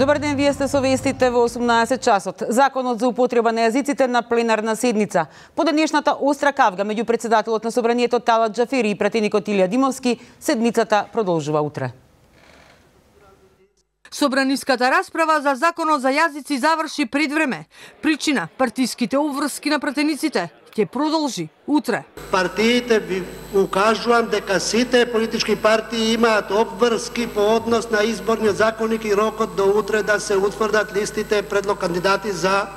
Добар ден, вие сте со вестите во 18 часот. Законот за употреба на јазиците на пленарна седница. По денешната остра кавга меѓу председателот на собранието Талат Џафери и пратеникот Илија Димовски, седницата продолжува утре. Собраниската расправа за законот за јазици заврши пред време. Причина – партиските обврски на пратениците ќе продолжи утре. Партиите ви укажувам дека сите политички партии имаат обврски по однос на изборниот законник и рокот до утре да се утврдат листите предлог кандидати за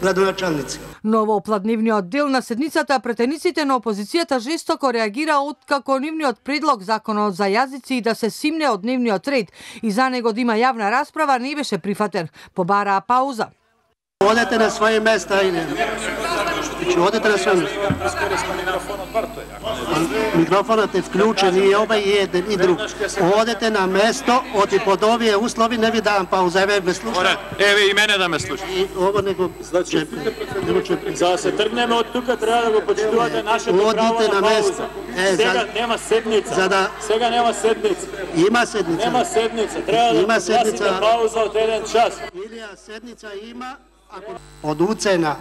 градоначалници. Но во опладневниот дел на седницата претениците на опозицијата жестоко реагира откако нивниот предлог законот за јазици да се симне од дневниот ред и за него да има јавна расправа не беше прифатен. Побараа пауза. Одете на своје места или одете на своје места. Микрофонот е вклучен и обај и еден и друг. Одете на место, оти под овие услови не ви давам пауза, еве ме слушате. Еве и мене да ме слушате. И ово него За да се тргнеме од тука треба да го почитувате нашето право на пауза. Сега нема седница. Сега нема седница. Има седница. Нема седница. Треба да гласите пауза од 1 час. Илија седница има од уцена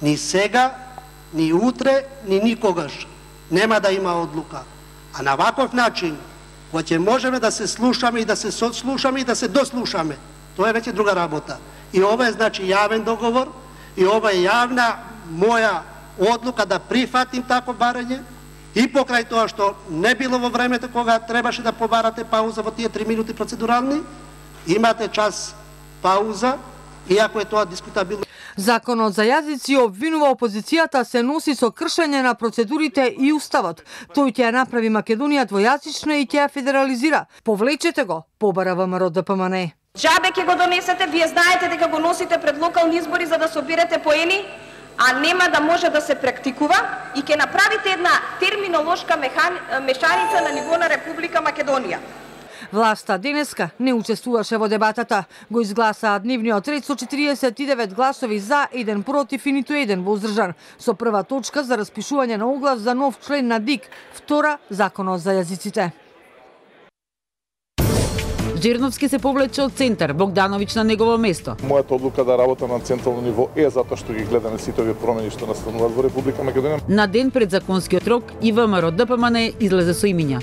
ни сега, ни утре, ни никогаш нема да има одлука. А на ваков начин, кога ќе можеме да се слушаме и да се сослушаме и да се дослушаме, тоа е веќе друга работа. И ова е значи јавен договор, и ова е јавна моја одлука да прифатим тако барање, и покрај тоа што не било во времето кога требаше да побарате пауза во тие 3 минути процедурални, имате час пауза, иако е тоа дискутабилно. Законот за јазици обвинува опозицијата се носи со кршење на процедурите и уставот. Тој ќе ја направи Македонија двојазична и ќе ја федерализира. Повлечете го, побара ВМРО ДПМН. Џабе ќе го донесете, вие знаете дека го носите пред локални избори за да соберете поени, а нема да може да се практикува и ќе направите една терминолошка мешаница на ниво на Република Македонија. Власта денеска не учествуваше во дебатата. Го изгласаа дневниот ред со 49 гласови за, 1 против и ниту 1 воздржан. Со прва точка за распишување на оглас за нов член на ДИК, втора законот за јазиците. Джерновски се повлече од центар, Богдановиќ на негово место. Мојата одлука да работам на централно ниво е затоа што ги гледаме сите овие промени што настануваат во Република Македонија. На ден пред законскиот рок и ВМРО ДПМН излезе со имиња.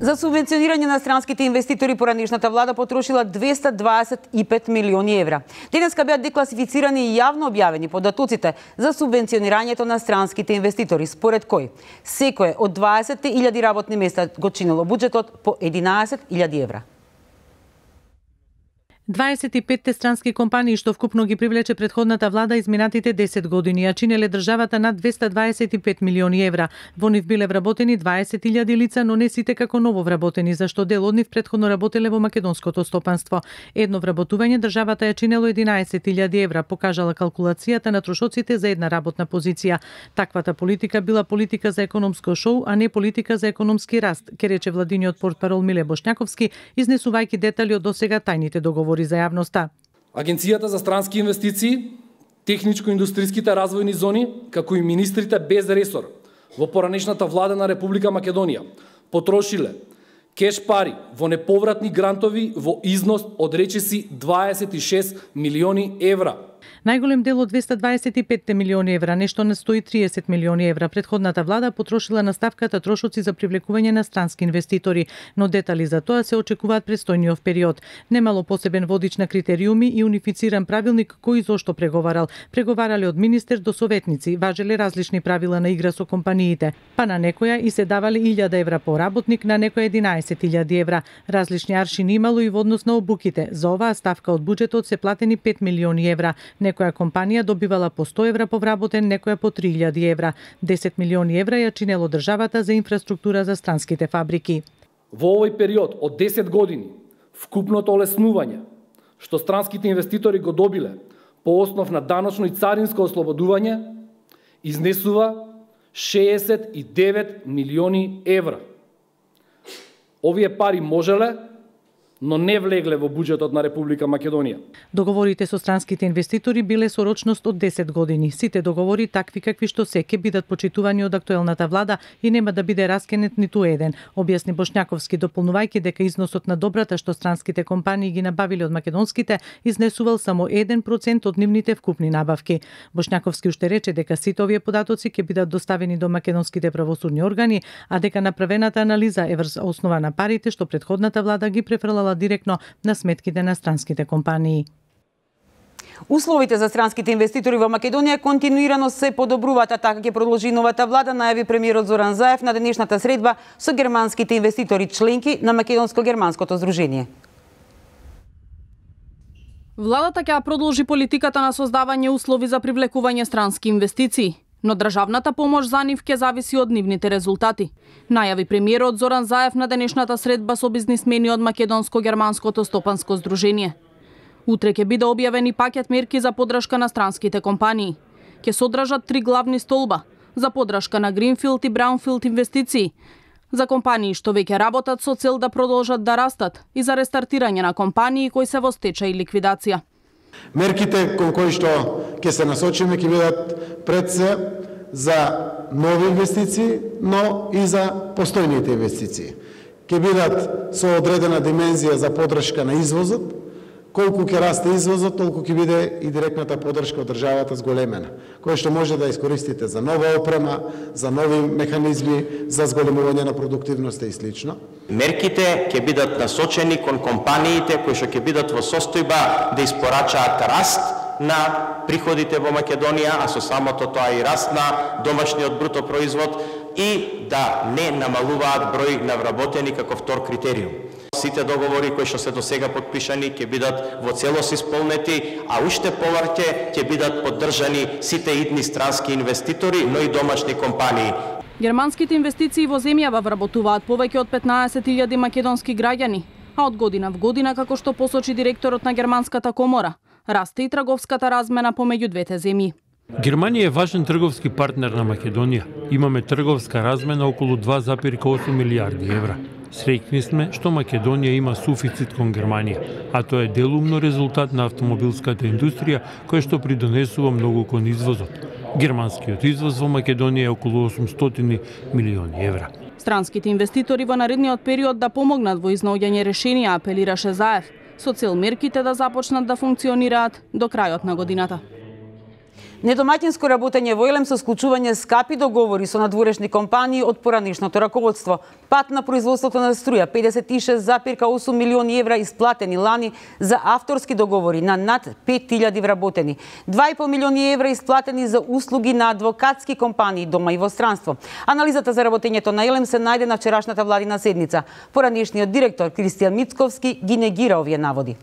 За субвенционирање на странските инвеститори поранешната влада потрошила 225 милиони евра. Денеска беа декласифицирани и јавно објавени податоците за субвенционирањето на странските инвеститори, според кој секое од 20.000 работни места го чинело буџетот по 11.000 евра. 25 странски компании што вкупно ги привлече претходната влада изминатите 10 години, ја чинеле државата над 225 милиони евра. Во нив биле вработени 20.000 лица, но не сите како ново вработени, зашто дел од нив претходно работеле во македонското стопанство. Едно вработување државата ја чинело 11.000 евра, покажала калкулацијата на трошоците за една работна позиција. Таквата политика била политика за економско шоу, а не политика за економски раст, ке рече владиниот портпарол Миле Бошњаковски, изнесувајќи детали од досега тајните договори за јавноста. Агенцијата за странски инвестиции, техничко-индустријските развојни зони, како и министрите без ресор во поранешната влада на Република Македонија потрошиле кеш пари во неповратни грантови во износ од речиси 26 милиони евра. Најголем дел од 225 милиони евра, нешто на 130 милиони евра, претходната влада потрошила на ставката трошоци за привлекување на странски инвеститори, но детали за тоа се очекуваат престојниот период. Немало посебен водич на критериуми и унифициран правилник кој зошто преговарал. Преговарале од министер до советници, важеле различни правила на игра со компаниите. Па на некоја и се давале 1000 евра по работник, на некоја 11.000 евра. Различни аршини имало и во однос на обуките. За оваа ставка од буџетот се платени 5 милиони евра. Некоја компанија добивала по 100 евра по вработен, некоја по 3000 евра. 10 милиони евра ја чинело државата за инфраструктура за странските фабрики. Во овој период од 10 години, вкупното олеснување што странските инвеститори го добиле по основ на даночно и царинско ослободување изнесува 69 милиони евра. Овие пари можеле но не влегле во буџетот на Република Македонија. Договорите со странските инвеститори биле со рочност од 10 години. Сите договори такви какви што се ќе бидат почитувани од актуелната влада и нема да биде раскинет ниту еден, објасни Бошњаковски, дополнувајќи дека износот на добрата што странските компании ги набавиле од македонските изнесувал само 1% од нивните вкупни набавки. Бошњаковски уште рече дека сите овие податоци ќе бидат доставени до македонските правосудни органи, а дека направената анализа е врз основа на парите што претходната влада ги префрлала директно на сметките на странските компании. Условите за странските инвеститори во Македонија континуирано се подобруваат, а така ќе продолжи новата влада, најави премиерот Зоран Заев на денешната средба со германските инвеститори членки на Македонско-германското здружение. Владата ќе продолжи политиката на создавање услови за привлекување странски инвестиции, но државната помош за нив ќе зависи од нивните резултати, најави премиерот Зоран Заев на денешната средба со бизнисмени од Македонско-германското стопанско здружение. Утре ќе биде објавен и пакет мерки за поддршка на странските компании. Ќе содржат 3 главни столба за поддршка на гринфилд и браунфилд инвестиции, за компании што веќе работат со цел да продолжат да растат и за рестартирање на компании кои се во стечај и ликвидација. Мерките кон кои што ќе се насочиме ќе бидат пред се за нови инвестиции, но и за постојните инвестиции. Ќе бидат со одредена димензија за поддршка на извозот. Колку ќе расте извозот, толку ќе биде и директната поддршка од државата зголемена, која што може да искористите за нова опрема, за нови механизми, за зголемување на продуктивноста и слично. Мерките ќе бидат насочени кон компаниите кои што ќе бидат во состојба да испорачаат раст на приходите во Македонија, а со самото тоа и раст на домашниот бруто производ и да не намалуваат број на вработени како втор критериум. Сите договори кои што се досега подпишани ќе бидат во целост исполнети, а уште повеќе ќе бидат поддржани сите идни странски инвеститори, но и домашни компании. Германските инвестиции во земјава вработуваат повеќе од 15.000 македонски граѓани, а од година в година, како што посочи директорот на Германската комора, расте и трговската размена помеѓу двете земји. Германија е важен трговски партнер на Македонија. Имаме трговска размена околу 2,8 милијарди евра. Среќни сме што Македонија има суфицит кон Германија, а тоа е делумно резултат на автомобилската индустрија која што придонесува многу кон извозот. Германскиот извоз во Македонија е околу 800 милиони евра. Странските инвеститори во наредниот период да помогнат во изнаоѓање решенија, апелираше Заев, со цел мерките да започнат да функционираат до крајот на годината. Недомаќинско работење во Елем со склучување скапи договори со надворешни компании од поранишното раководство. Пат на производството на струја, 56,8 милиони евра исплатени лани за авторски договори на над 5000 вработени. 2,5 милиони евра исплатени за услуги на адвокатски компании дома и во странство. Анализата за работењето на Елем се најде на вчерашната владина седница. Поранишниот директор Кристијан Мицковски ги негира овие наводи.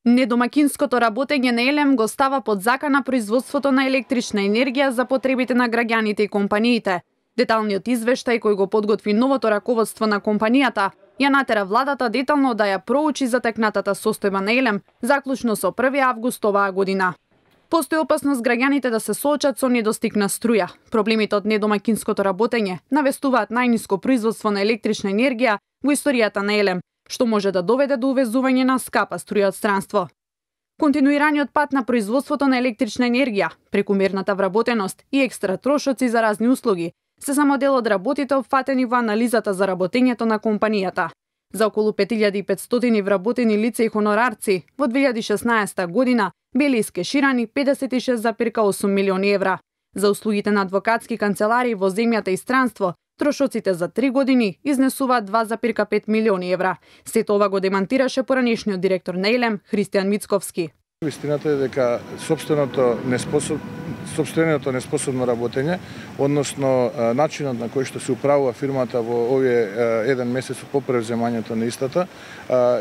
Недомаќинското работење на Елем го става под закана производството на електрична енергија за потребите на граѓаните и компаниите. Деталниот извештај кој го подготви новото раководство на компанијата ја натера владата детално да ја проучи затекнатата состојба на Елем, заклучно со 1 август оваа година. Постои опасност граѓаните да се соочат со недостиг на струја. Проблемите од недомаќинското работење навестуваат најниско производство на електрична енергија во историјата на Елем, што може да доведе до увезување на скапа струја од странство. Континуираниот пат на производството на електрична енергија, прекумерната вработеност и екстра трошоци за разни услуги се само дел од работите опфатени во анализата за работењето на компанијата. За околу 5500 вработени лица и хонорарци во 2016 година били искеширани 56,8 милиони евра. За услугите на адвокатски канцеларии во земјата и странство, трошоците за 3 години изнесуваат 2,5 милиони евра. Сето ова го демантираше поранешниот директор на Елем, Христијан Мицковски. Вистината е дека сопственото неспособно работење, односно начинот на кој што се управува фирмата во овие еден месец по превземањето на истата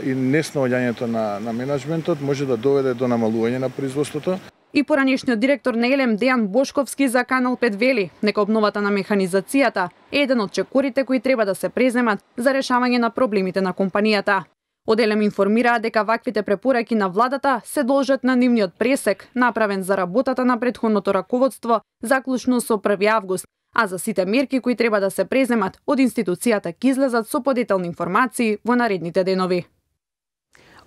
и неснаоѓањето на менеджментот може да доведе до намалување на производството. И поранешниот директор на Елем Дејан Бошковски за Канал 5 вели дека обновата на механизацијата е еден од чекорите кои треба да се преземат за решавање на проблемите на компанијата. Од Елем информираа дека ваквите препораки на владата се должат на нивниот пресек, направен за работата на претходното раководство, заклучно со 1 август, а за сите мерки кои треба да се преземат од институцијата ќе излезат со подетални информации во наредните денови.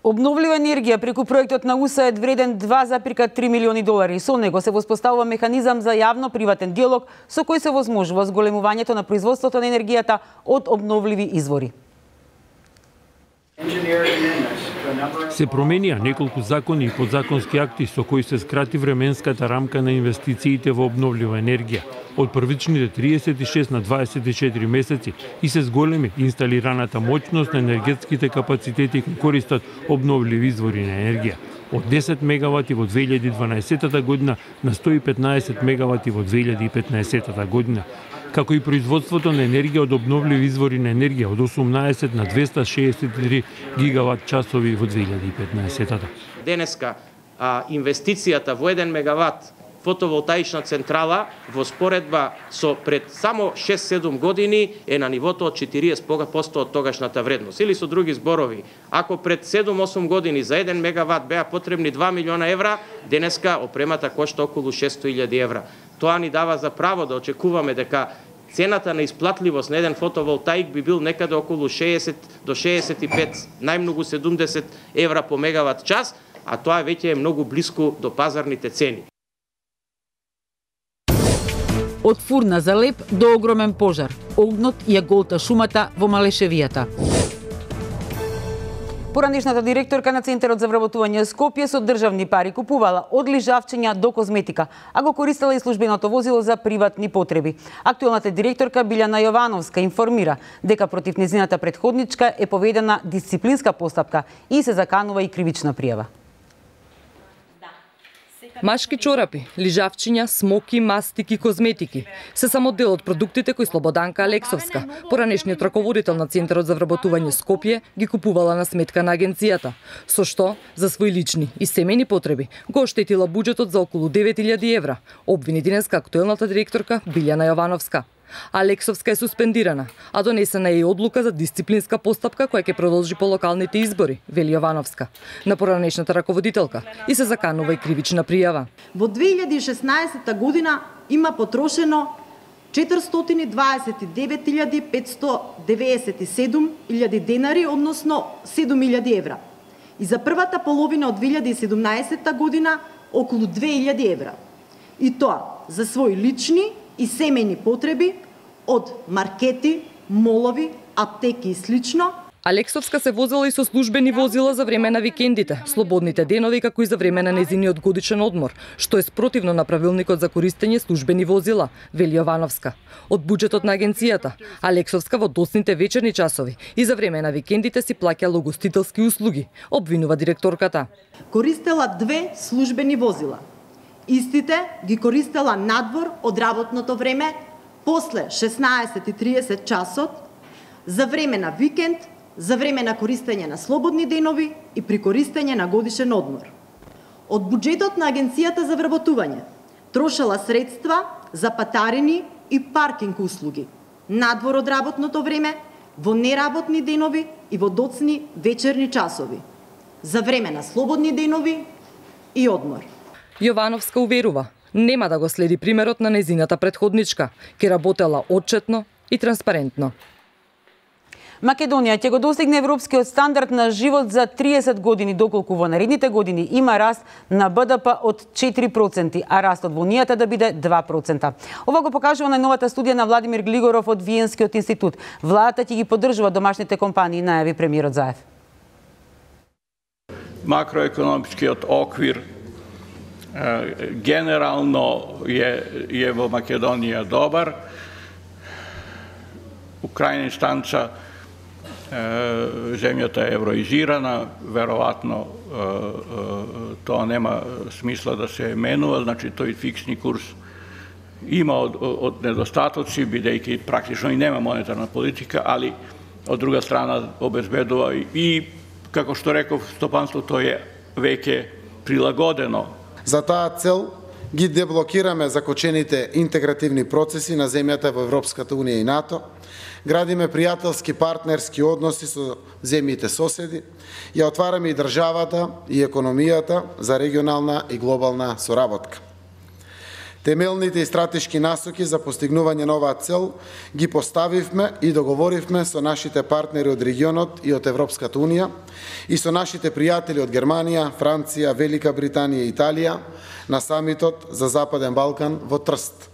Обновлива енергија преку проектот на УСАИД вреден 2,3 милиони долари. Со него се воспоставува механизам за јавно-приватен диалог со кој се возможува зголемувањето на производството на енергијата од обновливи извори. Се променија неколку закони и подзаконски акти со кои се скрати временската рамка на инвестициите во обновлива енергија од првичните 36 на 24 месеци и се зголеми инсталираната моќност на енергетските капацитети кои користат обновливи извори на енергија од 10 мегавати во 2012 година на 115 мегавати во 2015 година, како и производството на енергија од обновливи извори на енергија од 18 на 263 гигават часови во 2015. Денеска инвестицијата во 1 мегават фотоволтаична централа во споредба со пред само 6-7 години е на нивото од 40% од тогашната вредност. Или со други зборови, ако пред 7-8 години за 1 мегават беа потребни 2 милиона евра, денеска опремата кошта околу 600.000 евра. Тоа ни дава за право да очекуваме дека цената на исплатливост на еден фотоволтаик би бил некаде околу 60 до 65, најмногу 70 евра по мегават час, а тоа веќе е многу блиску до пазарните цени. Од фурна за леп до огромен пожар. Огнот ја голта шумата во Малешевијата. Поранешната директорка на Центарот за вработување Скопје со државни пари купувала од лижавчиња до козметика, а го користела и службеното возило за приватни потреби. Актуелната директорка Билјана Јовановска информира дека против незината претходничка е поведена дисциплинска постапка и се заканува и кривична пријава. Машки чорапи, лижавчиња, смоки, мастики, козметики се само дел од продуктите кои Слободанка Алексовска, поранешниот раководител на Центарот за вработување Скопје, ги купувала на сметка на агенцијата, со што за свои лични и семејни потреби го оштетила буџетот за околу 9.000 евра, обвини денеска актуелната директорка Билјана Јовановска. Алексовска е суспендирана, а донесена е и одлука за дисциплинска постапка која ќе продолжи по локалните избори, вели Јовановска, на поранешната раководителка, и се заканува и кривична пријава. Во 2016 година има потрошено 429.597 денари, односно 7.000 евра. И за првата половина од 2017 година околу 2.000 евра. И тоа за своји лични и семејни потреби од маркети, молови, аптеки и слично. Алексовска се возела и со службени возила за време на викендите, слободните денови, како и за време на незиниот годишен одмор, што е спротивно на правилникот за користење службени возила, вели Јовановска. Од буџетот на агенцијата, Алексовска во доцните вечерни часови и за време на викендите си плаќала угостителски услуги, обвинува директорката. Користела 2 службени возила. Истите ги користела надвор од работното време, после 16:30 часот, за време на викенд, за време на користење на слободни денови и при користење на годишен одмор. Од буџетот на Агенцијата за вработување трошела средства за патарини и паркинг услуги, надвор од работното време, во неработни денови и во доцни вечерни часови, за време на слободни денови и одмор. Јовановска уверува, нема да го следи примерот на незината претходничка, ке работела отчетно и транспарентно. Македонија ќе го достигне европскиот стандард на живот за 30 години, доколку во наредните години има раст на БДП од 4%, а растот во Унијата да биде 2%. Ова го покажува најновата студија на Владимир Глигоров од Виенскиот институт. Владата ќе ги поддржува домашните компании, најави премиерот Заев. Макроекономичкиот оквир генерално е во Македонија добар. У крајна инстанца земјата е евроизирана, веројатно тоа нема смисла да се менува, значи тој фиксни курс има од недостатоци, бидејќи практично и нема монетарна политика, али од друга страна обезбедува и, како што реков, стопанството е веќе прилагодено. За таа цел ги деблокираме закочените интегративни процеси на земјата во Европската Унија и НАТО, градиме пријателски партнерски односи со земјите соседи, ја отвараме и државата и економијата за регионална и глобална соработка. Темелните и стратешки насоки за постигнување на оваа цел ги поставивме и договоривме со нашите партнери од регионот и од Европската Унија и со нашите пријатели од Германија, Франција, Велика Британија и Италија на самитот за Западен Балкан во Трст.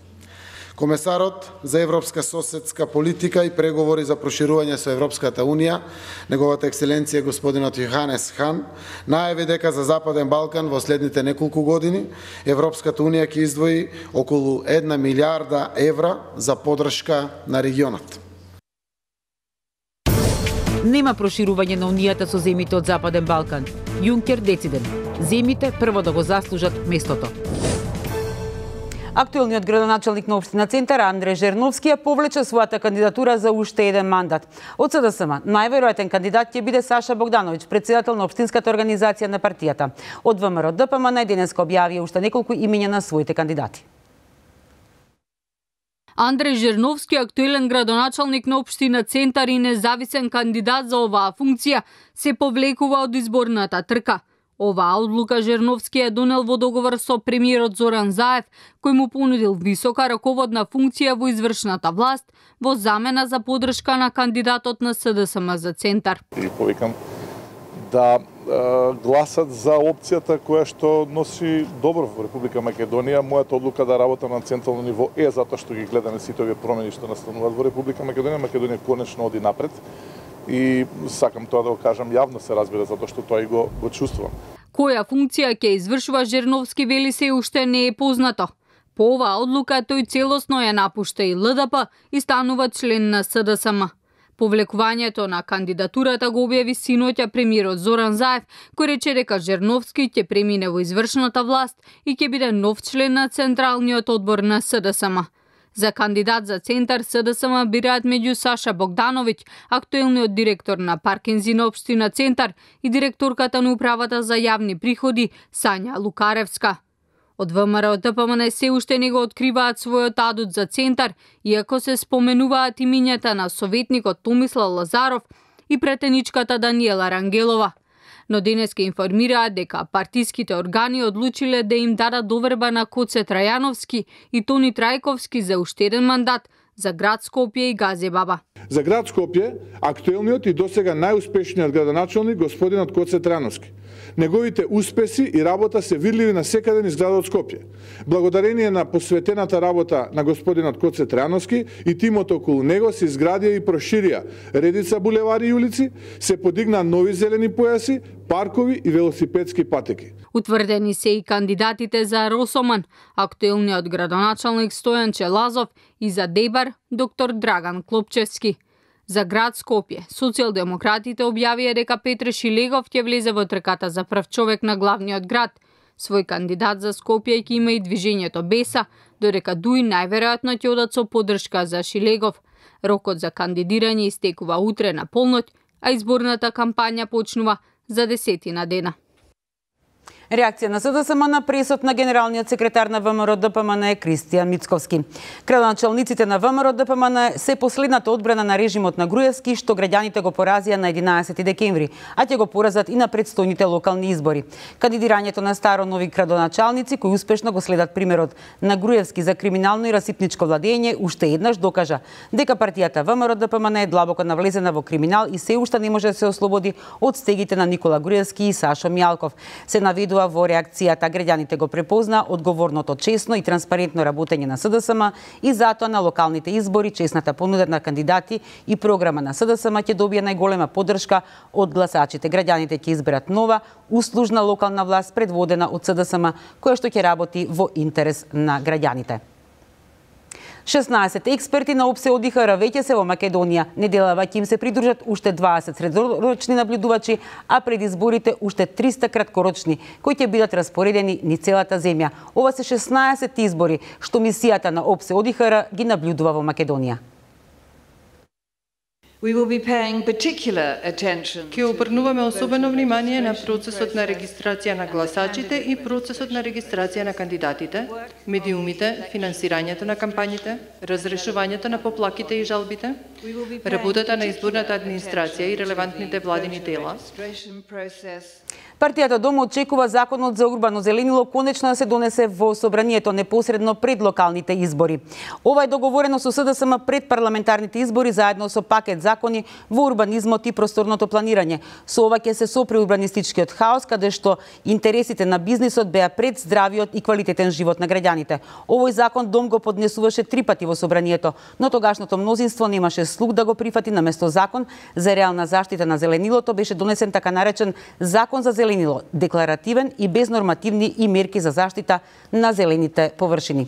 Комесарот за европска соседска политика и преговори за проширување со Европската Унија, неговата екселенција господинот Йоханес Хан, најави дека за Западен Балкан во следните неколку години Европската Унија ќе издвои околу 1 милиарда евра за поддршка на регионот. Нема проширување на Унијата со земите од Западен Балкан. Јункер дециден. Земите прво да го заслужат местото. Актуелниот градоначалник на општина Центар Андреј Жерновски ја повлече својата кандидатура за уште еден мандат. Од СДСМ најверојатен кандидат ќе биде Саша Богдановиќ, председател на општинската организација на партијата. Од ВМРО ДПМН денеска објавија уште неколку имиња на своите кандидати. Андреј Жерновски, актуелен градоначалник на општина Центар и независен кандидат за оваа функција, се повлекува од изборната трка. Оваа одлука Жерновски е донел во договор со премиерот Зоран Заев, кој му понудил висока раководна функција во извршната власт во замена за поддршка на кандидатот на СДСМ за Центар. И повикам да гласат за опцијата која што носи добро во Република Македонија. Мојата одлука да работам на централно ниво е затоа што ги гледаме сите овие промени што настануваат во Република Македонија. Македонија конечно оди напред. И сакам тоа да го кажам јавно, се разбира, затоа што тоа и го чувствувам. Која функција ќе извршува Жерновски, вели, се уште не е познато. По оваа одлука тој целосно ја напушта и ЛДП и станува член на СДСМ. Повлекувањето на кандидатурата го објави синоќа премиерот Зоран Заев, кој рече дека Жерновски ќе премине во извршната власт и ќе биде нов член на Централниот одбор на СДСМ. За кандидат за Центар СДСМ бираат меѓу Саша Богдановиќ, актуелниот директор на Паркинзи на општина Центар, и директорката на управата за јавни приходи Сања Лукаревска. Од ВМРО ДПМН се уште не го откриваат својот адут за Центар, иако се споменуваат имињата на советникот Томислав Лазаров и претеничката Даниела Рангелова. Но денеска информираат дека партиските органи одлучиле да им дадат доверба на Коце Трајановски и Тони Трајковски за уште еден мандат за град Скопје и Газебаба. За град Скопје, актуелниот и досега најуспешниот градоначалник господинот Коце Трајановски. Неговите успеси и работа се видливи на секаде низ градот Скопје. Благодарение на посветената работа на господинот Коце Трајановски и тимот околу него се изградија и проширија редица булевари и улици, се подигна нови зелени појаси, паркови и велосипедски патеки. Утврдени се и кандидатите за Росоман, актуелниот градоначалник Стојан Челазов, и за Дебар доктор Драган Клопчевски. За град Скопје, социјалдемократите објавија дека Петре Шилегов ќе влезе во трката за прв човек на главниот град. Свој кандидат за Скопје ќе има и движењето Беса, додека ДУИ најверојатно ќе одат со поддршка за Шилегов. Рокот за кандидирање истекува утре на полноќ, а изборната кампања почнува за 10 дена. Реакција на СДСМ на пресот на генералниот секретар на ВМРО ДПМН е Кристијан Мицковски. Градоначалниците на ВМРО ДПМН се последната одбрана на режимот на Груевски, што граѓаните го поразија на 11 декември, а ќе го поразат и на предстојните локални избори. Кандидирањето на старо-нови градоначалници, кои успешно го следат примерот на Груевски за криминално и расипничко владење, уште еднаш докажа дека партијата ВМРО ДПМН е длабоко навлезена во криминал и се уште не може да се ослободи од стегите на Никола Груевски и Сашо Мјалков. Се наведува во реакцијата, граѓаните го препозна одговорното, честно и транспарентно работење на СДСМ и затоа на локалните избори честната понуда на кандидати и програма на СДСМ ќе добие најголема поддршка од гласачите. Граѓаните ќе изберат нова, услужна локална власт предводена од СДСМ, која што ќе работи во интерес на граѓаните. 16 експерти на ОПСЕ ОДИХР веќе се во Македонија. Неделава ќе им се придружат уште 20 средорочни наблюдувачи, а пред изборите уште 300 краткорочни, кои ќе бидат распоредени низ целата земја. Ова се 16 избори што мисијата на ОПСЕ ОДИХР ги наблюдува во Македонија. Ќе обрнуваме особено внимание на процесот на регистрација на гласачите и процесот на регистрација на кандидатите, медиумите, финансирањето на кампањите, разрешувањето на поплаките и жалбите, работата на изборната администрација и релевантните владини тела. Партијата Дома очекува законот за урбано зеленило конечно да се донесе во собранието непосредно пред локалните избори. Ова е договорено со СДСМ пред парламентарните избори заедно со пакет закони во урбанизмот и просторното планирање. Со ова ќе се сопри урбанистичкиот хаос, каде што интересите на бизнисот беа пред здравиот и квалитетен живот на граѓаните. Овој закон Дом го поднесуваше 3 пати во собранието, но тогашното мнозинство немаше слух да го прифати. Наместо закон за реална заштита на зеленилото беше донесен така наречен закон за зеленило, декларативен и без нормативни и мерки за заштита на зелените површини.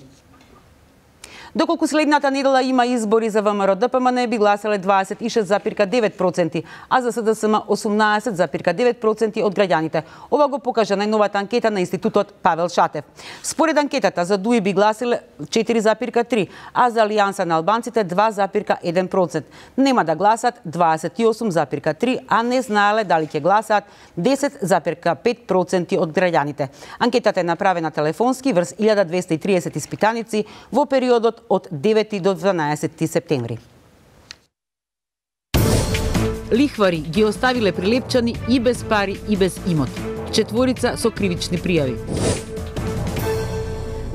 Доколку следната недела има избори за ВМРО, ДПМН би гласеле 26,9%, а за СДСМ 18,9% од граѓаните. Ова го покажа најновата анкета на Институтот Павел Шатев. Според анкетата за ДУИ би гласеле 4,3%, а за Алијанса на албанците 2,1%. Нема да гласат 28,3%, а не знаеле дали ќе гласаат 10,5% од граѓаните. Анкетата е направена телефонски врз 1230 испитаници во периодот од 9 до 12 септември. Лихвари ги оставиле прилепчани и без пари и без имот. 4 со кривични пријави.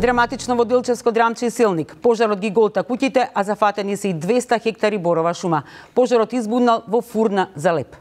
Драматично во Делчевско Драмче и Силник. Пожарот ги голта куќите, а зафатени се и 200 хектари борова шума. Пожарот избунал во фурна за леп.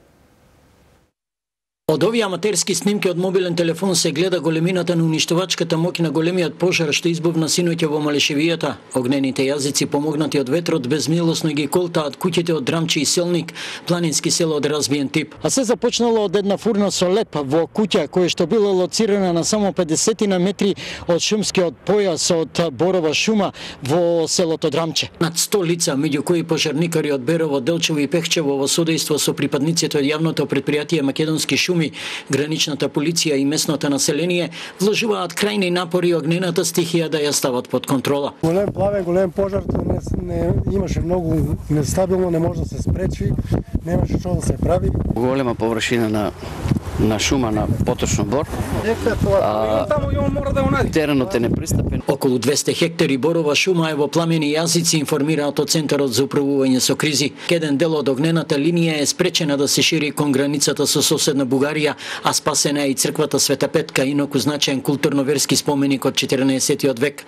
Од овие аматерски снимки од мобилен телефон се гледа големината на уништувачката моќ на големиот пожар што избувна синоќа во Малешевијата. Огнените јазици помогнати од ветрот безмилосно ги колтаат куќите од Драмче и Силник, планински село од разбиен тип. А се започнало од една фурна со леп во куќа која што била лоцирана на само 50 на метри од шумскиот појас од борова шума во селото Драмче. Над 100 лица, меѓу кои пожарникари од Берово, Делчево и Пехчево во содејство со припадниците од јавното предпријатие Македонски шуми, граничната полиција и местното население вложуваат крајни напори огнената стихија да ја стават под контрола. Голем плавен, голем пожар, не имаше многу нестабилно, не може да се спречи, немаше што да се прави. Голема површина на шума на поточно бор. Теренот е непристапен. Околу 200 хектари борова шума е во пламени јазици, информираат од Центарот за управување со кризи. Еден дел од огнената линија е спречена да се шири кон границата со соседна Бугарија, а спасена е и црквата Света Петка, инаку значаен културно-верски споменик од 14 век.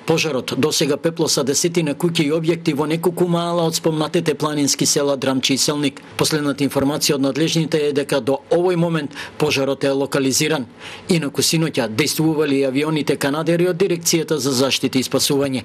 Пожарот досега пеплоса десетина куќи и објекти во неколку мала од спомнатите планински села Драмче и Силник. Последната информација од надлежните е дека до овој момент пожарот е локализиран. Инаку синоќа действували авионите Канадери од Дирекцијата за заштита и спасување.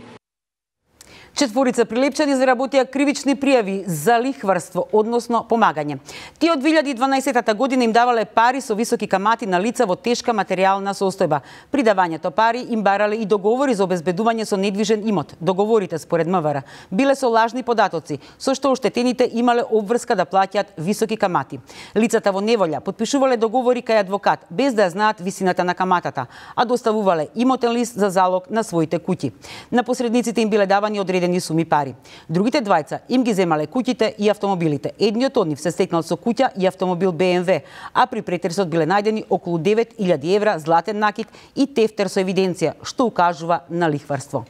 4 прилепчани заработија кривични пријави за лихварство, односно помагање. Тие од 2012 година им давале пари со високи камати на лица во тешка материјална состојба. При давањето пари им барале и договори за обезбедување со недвижен имот. Договорите според МВР биле со лажни податоци, со што оштетените имале обврска да плаќаат високи камати. Лицата во неволја потпишувале договори кај адвокат без да знаат висината на каматата, а доставувале имотен лист за залог на своите куќи. На посредниците им биле давани одредени суми пари. Другите двајца им ги земале куќите и автомобилите. Едниот од нив се стекнал со куќа и автомобил БМВ, а при претресот биле најдени околу 9.000 евра златен накид и тефтер со евиденција, што укажува на лихварство.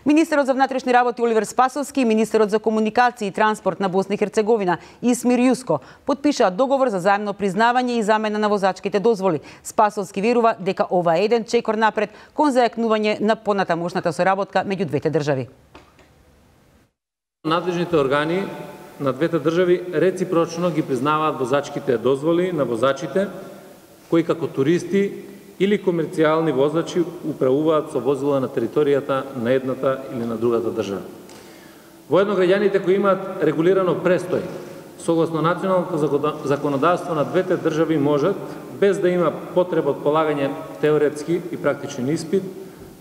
Министерот за внатрешни работи Оливер Спасовски и министерот за комуникација и транспорт на Босна и Херцеговина Исмир Јуско подпишаа договор за заемно признавање и замена на возачките дозволи. Спасовски верува дека ова е еден чекор напред кон зајакнување на понатамошната соработка меѓу двете држави. Надлежните органи на двете држави реципрочно ги признаваат возачките дозволи на возачите кои како туристи или комерцијални возачи управуваат со возила на територијата на едната или на другата држава. Воедно граѓаните кои имаат регулирано престој, согласно националното законодавство на двете држави можат, без да има потреба од полагање теоретски и практичен испит,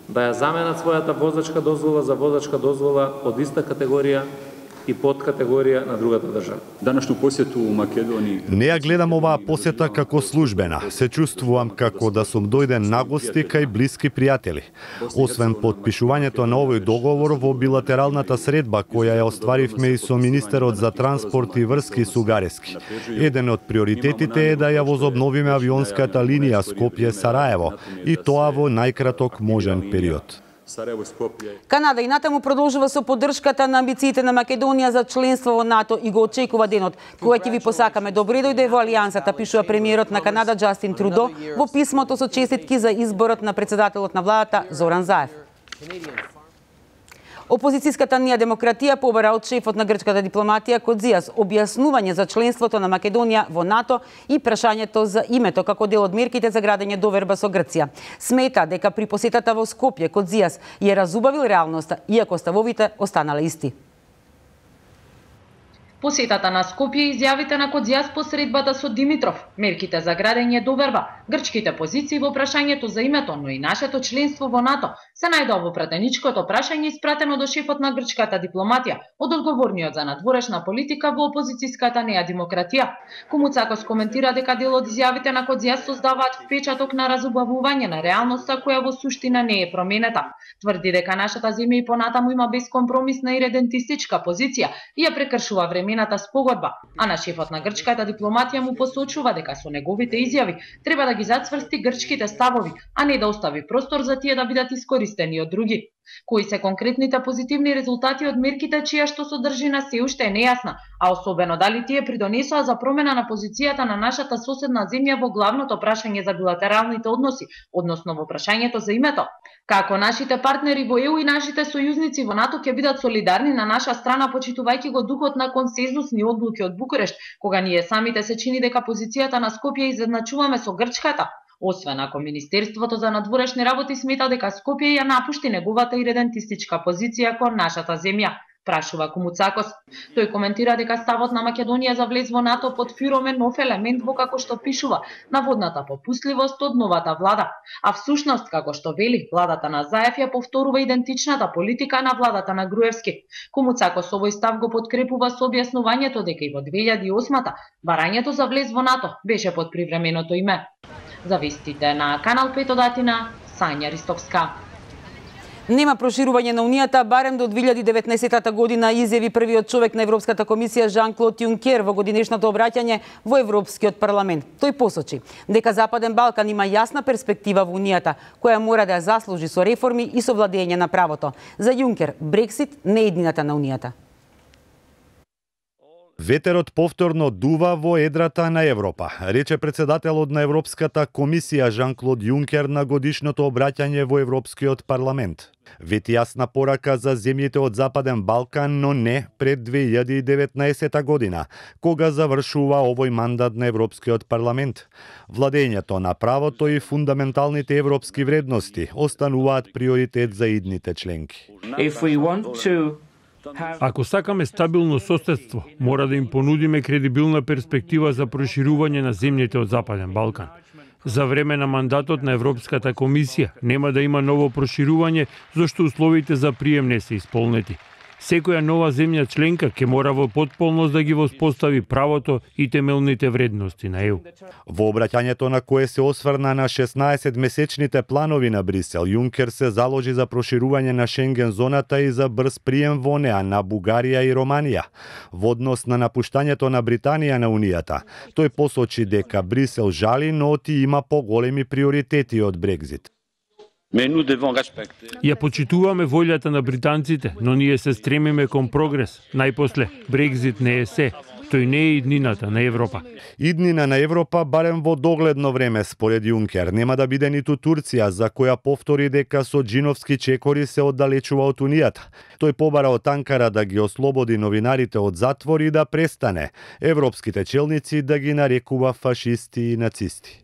да ја заменат својата возачка дозвола за возачка дозвола од иста категорија и подкатегорија на другата држава. Данашну посету у Македонiji. Не ја гледам оваа посета како службена. Се чувствувам како да сум дојден на гости кај блиски пријатели. Освен подпишувањето на овој договор во билатералната средба која ја остваривме и со министерот за транспорт и врски Сугарески. Еден од приоритетите е да ја возобновиме авионската линија Скопје-Сараево и тоа во најкраток можен период. Канада и натаму продолжува со поддршката на амбициите на Македонија за членство во НАТО и го очекува денот кога ќе ви посакаме добре дојде во алијансата, пишува премиерот на Канада Џастин Трудо во писмото со честитки за изборот на председателот на владата Зоран Заев. Опозицијската Нија демократија побара од шефот на грчката дипломатија Кодзијас објаснување за членството на Македонија во НАТО и прашањето за името како дел од мерките за градење доверба со Грција. Смета дека при посетата во Скопје Кодзијас ја разубавил реалноста, иако ставовите останале исти. Посетата на Скопје и изјавите на Кодзијас по средбата со Димитров, мерките за градење доверба, грчките позиции во прашањето за името, но и нашето членство во НАТО, се најдоа во пратеничкото прашање испратено до шефот на грчката дипломатија од одговорниот за надворешна политика во опозицијската Неа демократија. Кумуцакос коментира дека дел од изјавите на Кодзијас создаваат впечаток на разубавување на реалноста која во суштина не е променета. Тврди дека нашата земја и понатаму има бескомпромисна и редентистичка позиција и ја прекршува времената спогодба, а на шефот на грчката дипломатија му посочува дека со неговите изјави треба да ги зацврсти грчките ставови, а не да остави простор за тие да бидат искористени од други. Кои се конкретните позитивни резултати од мерките чија што содржина се уште е нејасна, а особено дали тие придонесоа за промена на позицијата на нашата соседна земја во главното прашање за билатералните односи, односно во прашањето за името. Како нашите партнери во ЕУ и нашите сојузници во НАТО ќе бидат солидарни на наша страна почитувајќи го духот на консензусни одлуки од Букурешт, кога ние самите се чини дека позицијата на Скопје изедначуваме со грчката, освен ако Министерството за надворешни работи смета дека Скопје ја напушти неговата иредентистичка позиција кон нашата земја, прашува Кумуцакос. Тој коментира дека ставот на Македонија за влез во НАТО под фиром е нов елемент во како што пишува наводната попустливост од новата влада. А всушност, како што вели, владата на Заев ја повторува идентичната политика на владата на Груевски. Кумуцакос овој став го подкрепува со објаснувањето дека и во 2008-та барањето за влез во НАТО беше под привременото име. За вестите на Канал 5 од Атина, Сања Ристовска. Нема проширување на Унијата барем до 2019 година, изјави првиот човек на Европската комисија Жан-Клод Јункер во годинешното обраќање во Европскиот парламент. Тој посочи дека Западен Балкан има јасна перспектива во Унијата, која мора да ја заслужи со реформи и со владење на правото. За Јункер, Брексит не е иднината на Унијата. Ветерот повторно дува во едрата на Европа, рече председателот на Европската комисија Жан-Клод Јункер на годишното обраќање во Европскиот парламент. Вети јасна порака за земјите од Западен Балкан, но не пред 2019 година, кога завршува овој мандат на Европскиот парламент. Владењето на правото и фундаменталните европски вредности остануваат приоритет за идните членки. Ако сакаме стабилно соседство, мора да им понудиме кредибилна перспектива за проширување на земјите од Западен Балкан. За време на мандатот на Европската комисија нема да има ново проширување, зашто условите за прием не се исполнети. Секоја нова земја членка ќе мора во потполност да ги воспостави правото и темелните вредности на ЕУ. Во обраќањето на кое се осврна на 16-месечните планови на Брисел, Јункер се заложи за проширување на Шенген зоната и за брз прием во неа на Бугарија и Романија. Во однос на напуштањето на Британија на Унијата, тој посочи дека Брисел жали, но ти има поголеми приоритети од Брекзит. Ја почитуваме волјата на британците, но ние се стремиме кон прогрес. Најпосле, Брекзит не е се. Тој не е иднината на Европа. Иднина на Европа барем во догледно време, според Јункер, нема да биде ниту Турција, за која повтори дека со джиновски чекори се оддалечува од Унијата. Тој побара од Анкара да ги ослободи новинарите од затвор и да престане европските челници да ги нарекува фашисти и нацисти.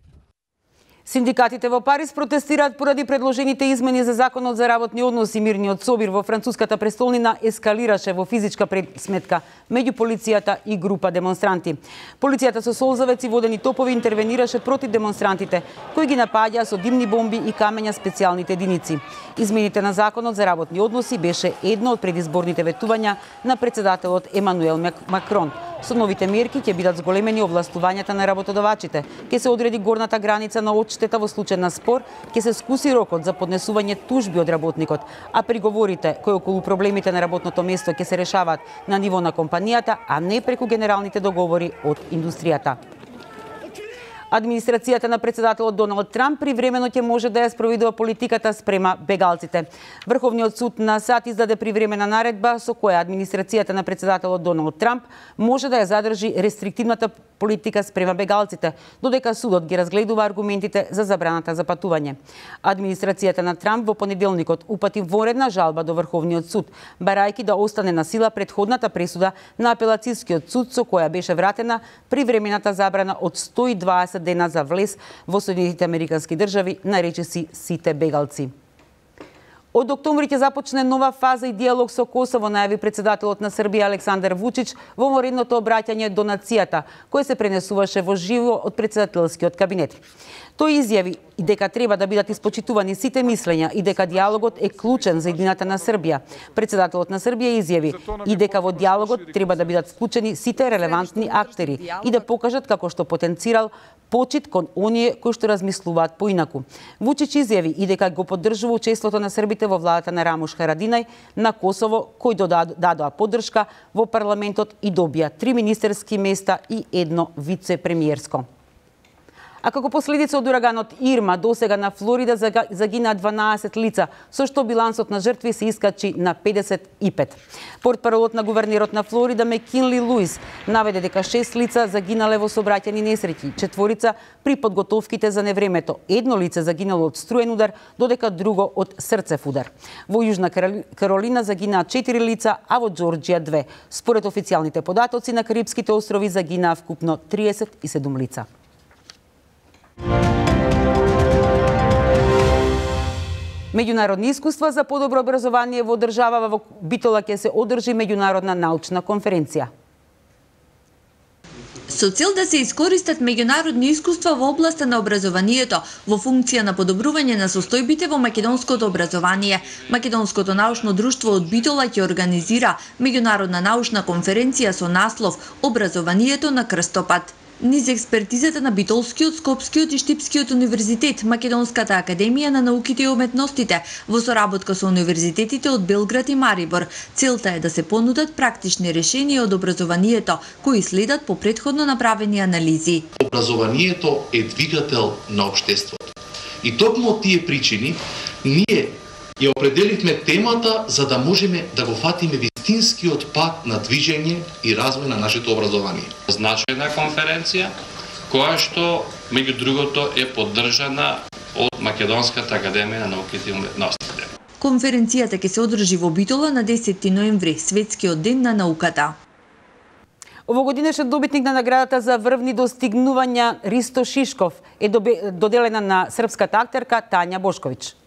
Синдикатите во Париз протестираат поради предложените измени за законот за работни односи. Мирниот собир во француската престолнина ескалираше во физичка пресметка меѓу полицијата и група демонстранти. Полицијата со солзавеци, водени топови, интервенираше против демонстрантите, кои ги напаѓаа со димни бомби и камења специјалните единици. Измените на законот за работни односи беше едно од предизборните ветувања на председателот Емануел Макрон. Со новите мерки ќе бидат зголемени овластувањата на работодавачите, ќе се одреди горната граница на одштета во случај на спор, ќе се скуси рокот за поднесување тужби од работникот, а приговорите кои околу проблемите на работното место ќе се решаваат на ниво на компанијата, а не преку генералните договори од индустријата. Администрацијата на председателот Доналд Трамп привремено ќе може да ја спроведува политиката спрема бегалците. Врховниот суд на САД издаде привремена наредба со која администрацијата на председателот Доналд Трамп може да ја задржи рестриктивната политика спрема бегалците, додека судот ги разгледува аргументите за забраната за патување. Администрацијата на Трамп во понеделникот упати воредна жалба до Врховниот суд, барајќи да остане на сила претходната пресуда на апелацијскиот суд со која беше вратена привремената забрана од 120 дена за влез во Соединетите Американски држави, наречиси сите бегалци. Од октомври ќе започне нова фаза и диалог со Косово, најави председателот на Србија Александар Вучич во воредното обраќање до нацијата, кое се пренесуваше во живо од председателскиот кабинет. Тој изјави и дека треба да бидат испочитувани сите мислења и дека диалогот е клучен за иднината на Србија. Председателот на Србија изјави и дека во диалогот треба да бидат вклучени сите релевантни актери и да покажат како што потенцирал почит кон оние кои што размислуваат поинаку. Вучич изјави и дека го поддржува учеството на србите во владата на Рамуш Харадинај на Косово, кои дадоа поддршка во парламентот и добија 3 министерски места и 1 вице-премиерско. А како последица од ураганот Ирма, досега на Флорида загина 12 лица, со што билансот на жртви се искачи на 55. Портпаролот на гувернерот на Флорида Мекинли Луис наведе дека 6 лица загинале во сообраќајни несреќи, 4 при подготовките за невремето, 1 лице загинало од струен удар, додека друго од срцев удар. Во Јужна Каролина загинаа 4 лица, а во Џорџија 2. Според официјалните податоци на Карипските острови загинаа вкупно 37 лица. Меѓународни искуства за подобро образование во држава во Битола ќе се одржи меѓународна научна конференција. Со цел да се искористат меѓународни искуства во областа на образованието во функција на подобрување на состојбите во македонското образование, Македонското научно друштво од Битола ќе организира меѓународна научна конференција со наслов Образованието на крстопат. Низ експертизата на Битолскиот, Скопскиот и Штипскиот универзитет, Македонската академија на науките и уметностите, во соработка со универзитетите од Белград и Марибор, целта е да се понудат практични решенија од образованието, кои следат по претходно направени анализи. Образованието е двигател на општеството. И токму од тие причини, ние ја определивме темата за да можеме да го фатиме вистинскиот пат на движење и развој на нашето образование. Значајна конференција, која што, меѓу другото, е поддржана од Македонската академија на науките и уметностите. Конференцијата ќе се одржи во Битола на 10 ноември, Светскиот ден на науката. Овогодинешен добитник на наградата за врвни достигнувања Ристо Шишков е доделена на српската актерка Тања Бошковиќ.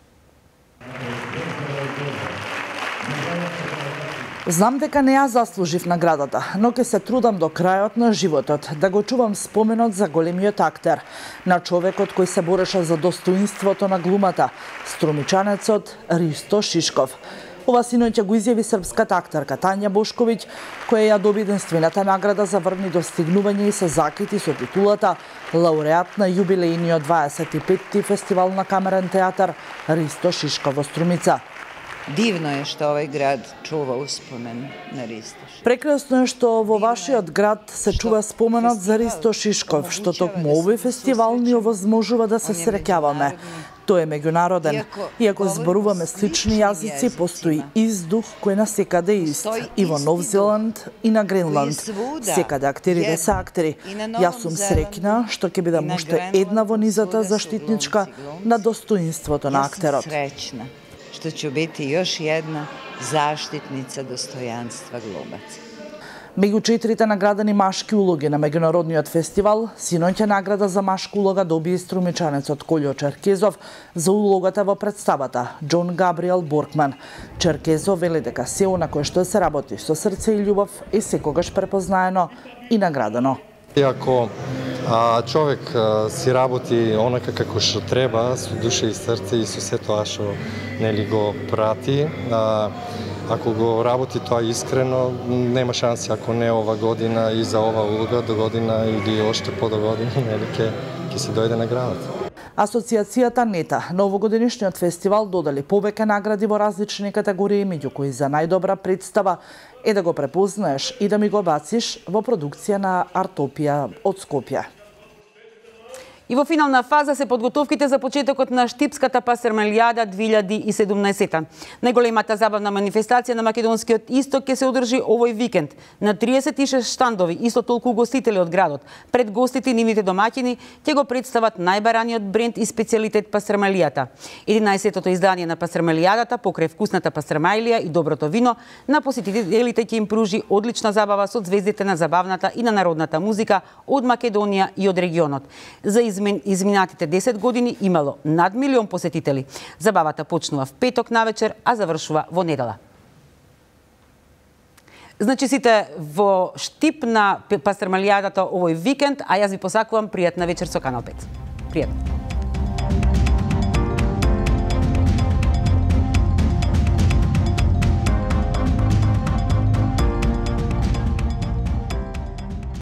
Знам дека не ја заслужив наградата, но ќе се трудам до крајот на животот да го чувам споменот за големиот актер, на човекот кој се бореше за достоинството на глумата, струмичанецот Ристо Шишков. Ова синоќа го изјави српската актерка Тања Бошковиќ, која ја доби единствената награда за врвни достигнувања и се закити со титулата лауреат на јубилејниот 25-ти фестивал на камерен театар Ристо Шишков во Струмица. Дивно е што овој град чува успомен на Ристо Шишков. Прекрасно е што во вашиот град се чува споменот за Ристо Шишков, што токму овој фестивал ни овозможува да се среќаваме. Тој е меѓународен. Иако зборуваме слични јазици, постои издух кој на секаде ист. И во Нов Зеланд и на Гренланд. Секаде актерите се актери. Јас сум среќна што ќе бидам уште една во низата заштитничка на достоинството на актерот. Среќна што ќе бити још една заштитница достојанства глумаца. Меѓу 4 наградени машки улоги на меѓународниот фестивал, синоќа награда за машка улога доби струмичанецот Колјо Черкезов за улогата во представата Џон Габриел Боркман. Черкезов вели дека се она кое што се работи со срце и љубов е секогаш препознаено и наградено. Ако човек си работи онака како што треба, со душа и срце и со се тоа што нели го прати, ако го работи тоа искрено, нема шанси ако не ова година и за ова улога до година или оште по до година, нели ќе се дојде наградата. Асоциацијата НЕТА на овогодишниот фестивал додали повеќе награди во различни категории, меѓу кои за најдобра представа е да го препознаеш и да ми го бациш во продукција на Артопија од Скопје. И во финална фаза се подготовките за почетокот на Штипската пасармелијада 2017. Најголемата забавна манифестација на македонскиот исток ќе се одржи овој викенд на 36 штандови, исто толку гостители од градот. Пред гостите и нивните домаќини ќе го представат најбараниот бренд и специјалитет пасармелијата. 11-тото издание на пасармелијадата покрај вкусната пасармелија и доброто вино на посетителите ќе им пружи одлична забава со звездите на забавната и на народната музика од Македонија и од регионот. За изминатите 10 години имало над 1 милион посетители. Забавата почнува в петок навечер, а завршува во недела. Значи сите во Штип на пасармелијадата овој викенд, а јас ви посакувам пријатна вечер со Канал 5. Пријатно.